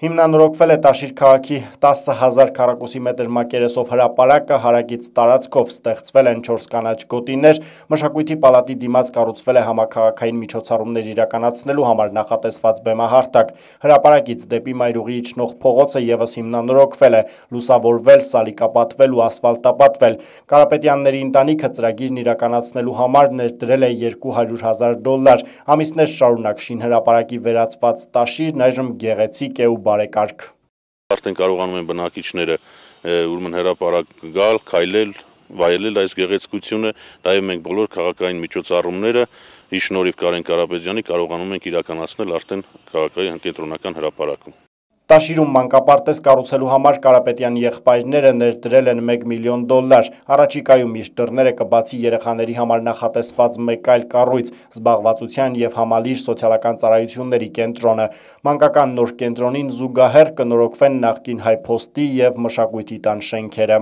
Հիմնանորոգվել է Տաշիր քաղաքի 10,000 քառակուսի մետր մակերեսով հրապարակը, հարակից տարածքով ստեղծվել են 4 կանաչ գոտիներ, Մշակույթի պալատի դիմաց կառուցվել է համաքաղաքային միջոցառումներ իրականացնելու համար նախատեսված բեմահարթակ, հրապարակից դեպի Մայրուղի իջնող փողոցը ևս հիմնանորոգվել է, լուսավորվել, սալիկապատվել ու ասֆալտապատվել։ Կարապետյանների ընտանիքը ծրագիրն իրականացնելու համար ներդրել է $200,000, ամիսներ շարունակ շինհրապարակի վերածված Տաշիրն այժմ գեղեցիկ է ու բարեկարգ։ Արդեն կարողանում են բնակիչները ուրեմն հրապարակ գալ, քայլել, վայելել այս գեղեցկությունը, նաև մենք բոլոր քաղաքային միջոցառումները ի շնորհիվ Կարեն Կարապետյանի կարողանում ենք իրականացնել արդեն քաղաքային կենտրոնական հրապարակում։ Տաշիրում մանկապարտեզ կառուցելու համար Կարապետյանի եղբայրները ներդրել են $1 միլիոն, առաջիկայում իր դռները կբացի երեխաների համար նախատեսված մեկ այլ կառույց՝ զբաղվածության և համալիր սոցիալական ծառայությունների կենտրոնը։ Մանկական նոր կենտրոնին զուգահեռ կնորոգվեն նախկին հայփոստի և մշակույթի տան շենքերը։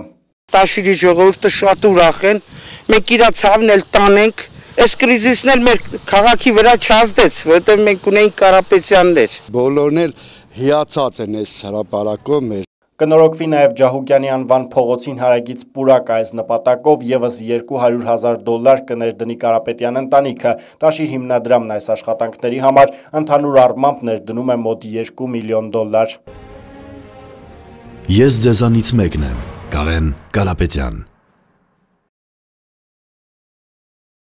Տաշիրի ժողովուրդը շատ ուրախ են, մենք իրա ցավն էլ տանենք, այս կրիզիսն էլ մեր քաղաքի վրա չազդեց, որովհետև մենք ունեինք Կարապետյաններ։ Բոլորն էլ հիացած են այս հրապարակով մեր։ Կնորոգվի նաև Ջահուկյանի անվան փողոցին հարակից պուրակ, այս նպատակով ևս $200,000 կներդնի Կարապետյան ընտանիքը։ Տաշիր հիմնադրամն այս աշխատանքների համար ընդհանուր առմամբ ներդնում է մոտ $2 միլիոն։ Ես ձեզանից մեկն եմ, Կարեն Կարապետյան։